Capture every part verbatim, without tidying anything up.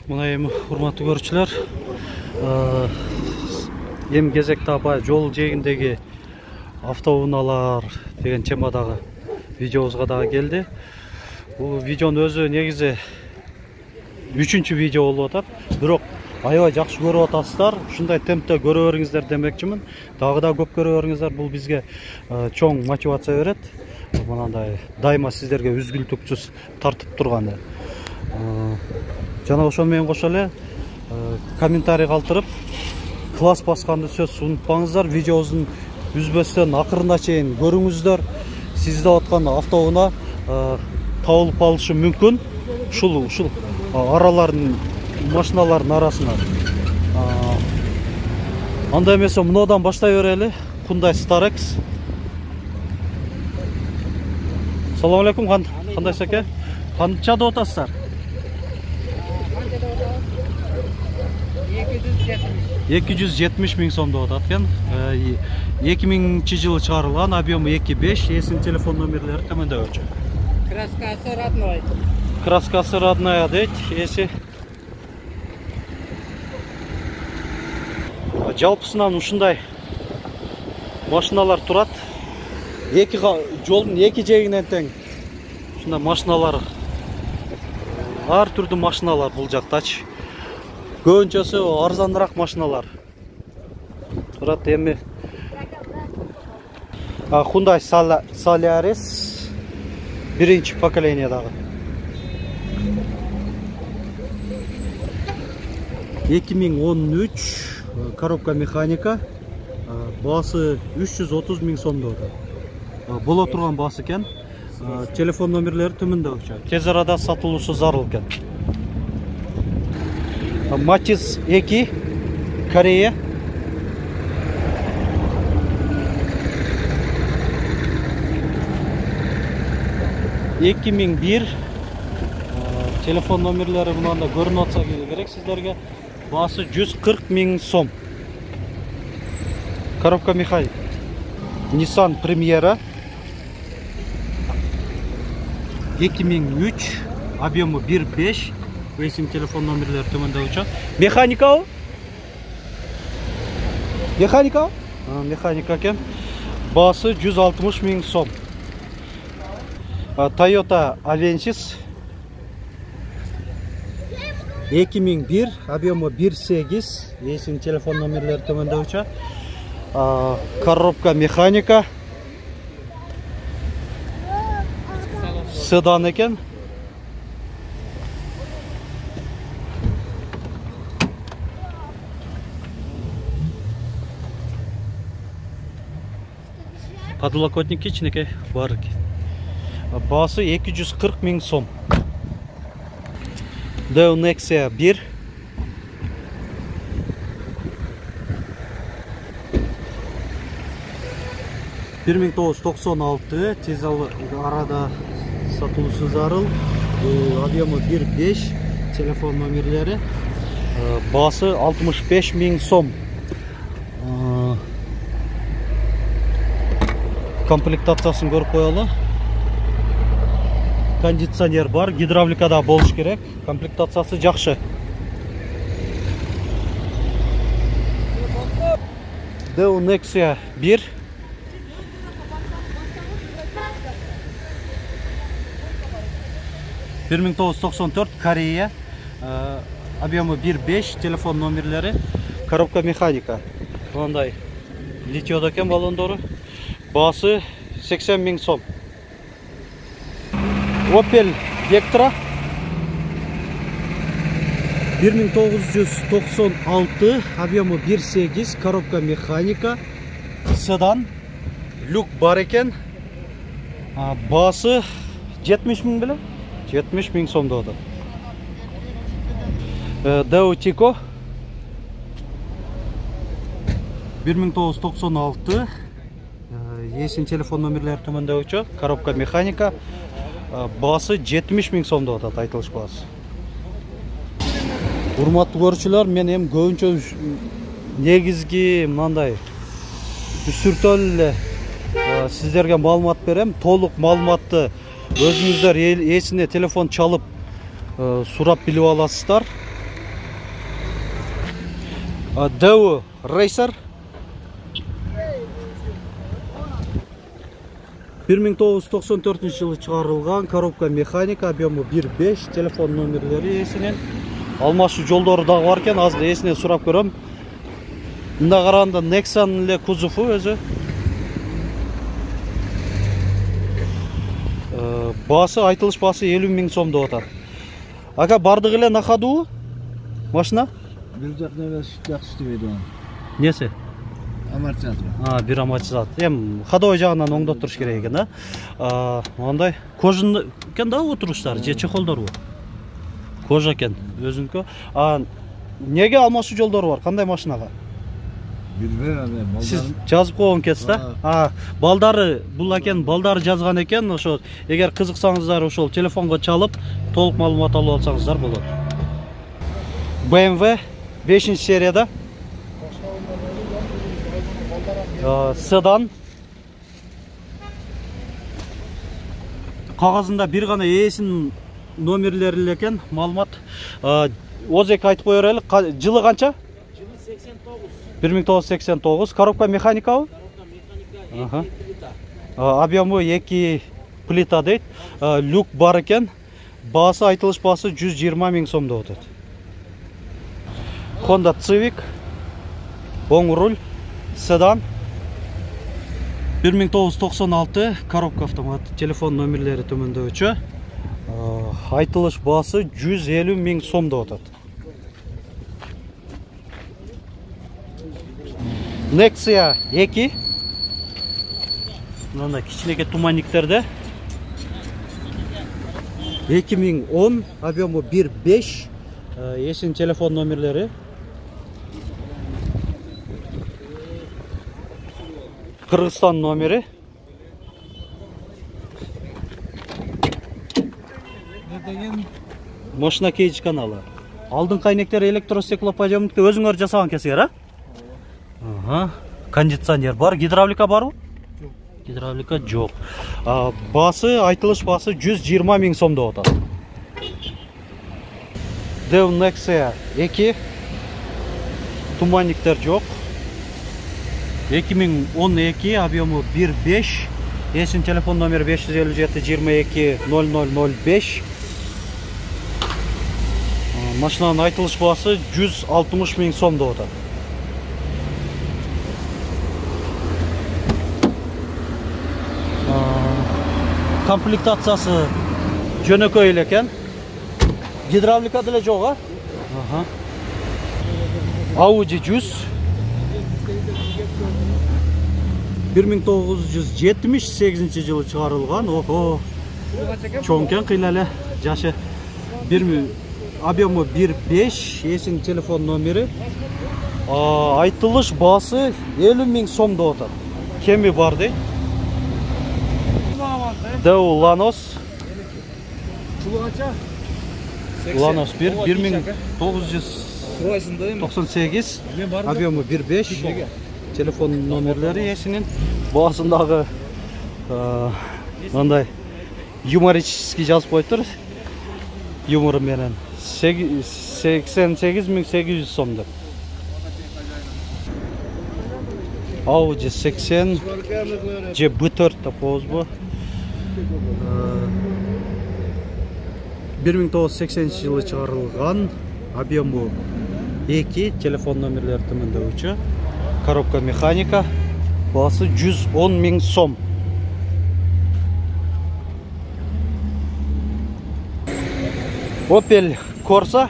Мына эми урматтуу көрүүчүлөр, эми кезекте апа жол жээгиндеги автоунаалар деген темадагы видеобузга дагы келди. Бул видеонун өзү негизи үчүнчү видео болуп атат. Бирок аябай жакшы көрүп атасыздар. Ушундай темпте көрө бериңиздер демекчимин. Дагы да көп көрө бериңиздер. Бул бизге чоң мотивация берет. Мынандай дайыма сиздерге үзгүлтүксүз тартып турган. Жана ошол менен кошо эле комментарий калтырып, класс басканды сөзсүз унутпаңыздар. Видеобуздун үзбөстөн акырына чейин көрүңүздөр. Сизде аткан автоунаа табылып калышы мүмкүн. Ушул ушул аралардын машиналардын арасына. Анда эмесе мындан баштай берели. Hyundai Starex. Салам алейкум, кандайсыз аке? Канча деп атасыздар? эки жүз жетимиш миң сом деп атат экен. эки миңинчи жылы чыгарылган, объему эки беш, эсин телефон номерлери төмөндө өчө. Краскасы родной. Краскасы родная дейт, эси. Жалпысынан ушундай машиналар турат. Эки жолдун эки жээгинен тең ушундай машиналар, ар түрдүү машиналар бул жактачы. Көбүнчөсү арзаныраак машиналар турат. Эми Hyundai Solaris биринчи поколениядагы эки миң он үч, коробка механика, баасы үч жүз отуз миң сом деп атат. Боло турган баасы экен. Телефон номерлери төмөндө өчө. Тез арада сатылуусу зарыл экен. Matiz эки, Корея. эки миң бир. Телефон номерлери мында көрүнүп атса керек сиздерге. Баасы жүз кырк миң сом. Коробка механик. Nissan Primera. эки миң үч, объему бир беш. Эсим телефон номерлери төмөндө өчө. Механика? Механика? Механика экен. Баасы жүз алтымыш миң сом. Toyota Avensis эки миң бир, объему бир сегиз. Эсим телефон номерлери төмөндө өчө. Коробка механика. Седан экен. Подлокотник кичинекей бар экен. Баасы эки жүз кырк миң сом. Deo Nexia бир. бир миң тогуз жүз токсон алты, тез арада сатылуусу зарыл. Объему бир беш, телефон номерлери. Баасы алтымыш беш миң сом. Комплектациясын көрүп коелу. Кондиционер бар, гидравликада болуш керек. Комплектациясы жакшы. Deo Nexia бир. бир миң тогуз жүз токсон төрт, Корея. Объему бир беш, телефон номерлери. Коробка механика. Мындай литиодо экен баллондору. Баасы сексен миң сом. Opel Vectra бир миң тогуз жүз токсон алты, объему бир сегиз, коробка механика, седан, люк бар экен. Баасы жетимиш миң беле? жетимиш миң сом деп атат. Deo Tico бир миң тогуз жүз токсон алты. Эсин телефон номерлери төмөндө өчө. Коробка механика. Баасы жетимиш миң сом деп атат, айтылыш баасы. Урматтуу көрүүчүлөр, мен эми көбүнчө негизги мындай сүртөлү эле сиздерге маалымат берем. Толук маалыматты өзүңүздөр эсине телефон чалып сурап билип аласыздар. Daewoo Racer bir ming тогуз жүз токсон төртүнчү жылы чыгарылган, коробка механика, объему бир беш, телефон номерлери эсинен. Алмашуу жолдору дагы бар экен, азыр эсинен сурап көрөм. Мында караганда Nexan эле кузову өзү. Баасы, айтылыш баасы элүү миң сом деп атат. Ака бардыгы эле накадуу машина? Бир жак небеси жакшы иштебейт анын. Несі? Амортизатор. А, бир амортизатор. Эми ходовой жагынан оңдоттуруш керек экен, а? Андай кожун экен да отуруштары, же чехолдорбу? Кожа экен, өзүнүкү. А неге алмашуу жолдору бар? Кандай машинага? Билбейм, Сиз жазып койгон экенсиз да? А, балдары бул экен, балдары жазган экен, ошо эгер кызыксаңыздар ошол телефонго чалып, толук маалымат алып алсаңыздар болот. бэ эм вэ бешинчи серияда. Седан. Кагазында бир гана ээсинин номерлери эле экен, маалымат. Озек айтып кое берели, жылы канча? Жылы сексен тогуз. bir ming тогуз жүз сексен тогуз. Коробка механикабы? Коробка механика, эки плита. Объему эки плита дейт. Люк бар экен. Баасы, айтылыш баасы жүз жыйырма миң сом деп атат. Honda Civic. Оң руль. Седан. bir ming тогуз жүз токсон алты. Коробка автомат. Телефон номерлери төмөндөгүчө. Айтылыш баасы жүз элүү миң сом деп атат. Nexia эки. Мына кичинекей туманниктерде. эки миң он, объему бир беш. Эсин телефон номерлери. Кыргызстан номери. Машина кейдж каналы. Алдыңкы айнектер электростеклоподъемникти өзүңөр жасаган экенсиңер, а? Ага. Кондиционер бар, гидравлика барбы? Жок. Гидравлика жок. Баасы, айтылыш баасы жүз жыйырма миң сом деп атат. Daewoo Nexia эки. Туманниктер жок. эки миң он эки, объему бир беш. Эсин телефон номери беш жүз элүү жети жыйырма эки ноль ноль ноль беш. Машинанын айтылыш баасы жүз алтымыш миң сом деп атат. Комплектациясы жөнөкөй эле экен. Гидравлика деле жок, а? Ага. Audi жүз. bir ming тогуз жүз жетимиш сегизинчи жылы чыгарылган. Ого. Чоң экен, кыйла эле жашы. Объему бир беш, эсин телефон номери. Айтылыш баасы элүү миң сом деп атат. Кеми бар дейт. Daewoo Lanos. Lanos bir, bir ming тогуз жүз токсон сегиз, объему бир беш. Телефон номерлери эсинин. Баасындагы мындай юморический жазып коюптур. Юмору менен сексен сегиз миң сегиз жүз сом деп. Audi сексен же бэ төрт деп коебузбу? bir ming тогуз жүз сексенинчи жылы чыгарылган, объему эки, телефон номерлери төмөндөгүчө. Коробка механика, баасы жүз он миң сом. Opel Corsa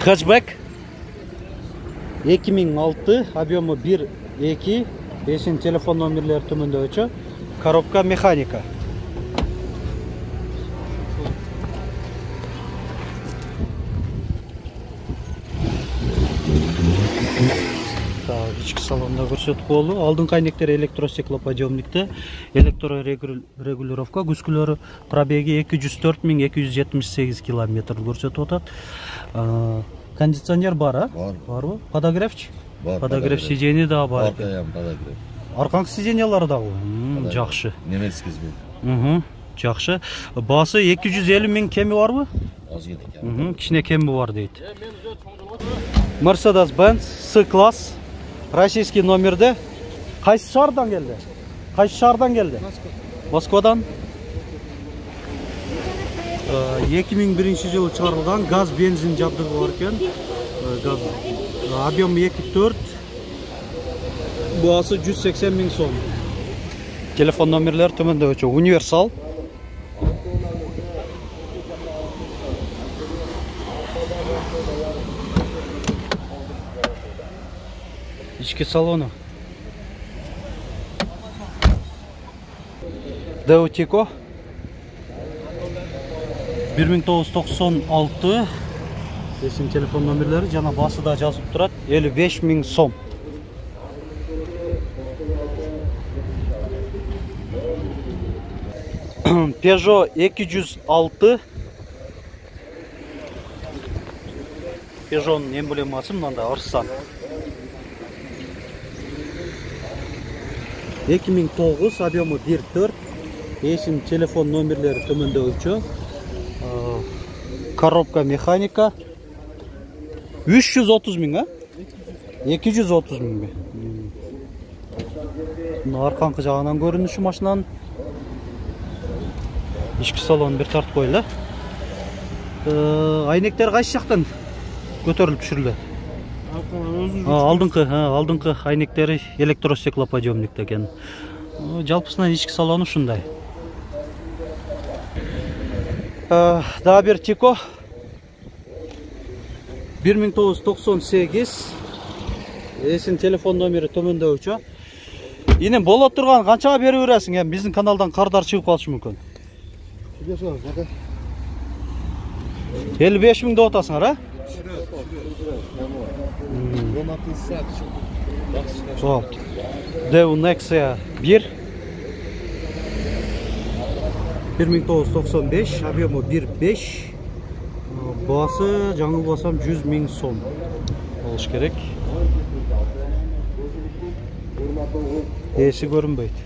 хэтчбек эки миң алты, объему бир эки, эсин телефон номерлери төмөндөгүчө. Коробка механика. Ички салонда көрсөтүп болду. Алдыңкы айнектер электростеклоподъемникте, электрорегулировка, күскүлөрү, пробеги эки жүз төрт миң эки жүз жетимиш сегиз километр көрсөтүп атат. Кондиционер бар, а? Бар. Барбы? Подогревчи? Бар. Подогрев сиденье да бар. Аркаям подогрев. Аркаңкы сиденьялары дагы. Жакшы. Немецкий звук. Угу. Жакшы. Баасы эки жүз элүү миң кеми барбы? Аз кеткен. Кичине кеми бар дейт. Mercedes-Benz S-класс. Российский номерде. Кайсы шаардан келди? Кайсы шаардан келди? Москвадан. эки миң биринчи жылы чыгарылган газ бензин жабдыгы бар экен. Газ объем эки төрт. Баасы жүз сексен миң сом. Телефон номерлер төмөндө өчө. Универсал. Ички салону. Деутико. бир миң тогуз жүз токсон алты. Есім телефон номерлери жана басыда жазып турат. элүү беш миң сом. Peugeot эки жүз алты. Peugeot'нун эмблемасы мындай арсан. эки миң тогуз, объему бир төрт. Есім телефон номерлери төмөндө өчө. Коробка механика. үч жүз отуз миң, а? эки жүз отуз миң. Мына арканкы жагынан көрүнүшү машинанын. Ички салонун бир тартып коелу. Айнектер кайсы жактан көтөрүлүп түшүрүлөт? Алдыңкы, алдыңкы айнектери электростеклоподъемник экен. Жалпысынан ички салону ушундай. Дагы бир Тико. бир миң тогуз жүз токсон сегиз. Эсин телефон номери төмөндө өчө. Инем боло турган канчага берип бересиң? Эми биздин каналдан кардар чыгып калышы мүмкүн. элүү беш миң деп атасыңар, а? Dev Nexia бир. бир миң тогуз жүз токсон беш, объему бир беш. Басы жаңылбасам жүз миң сом болуш керек. Эси көрүнбөйт.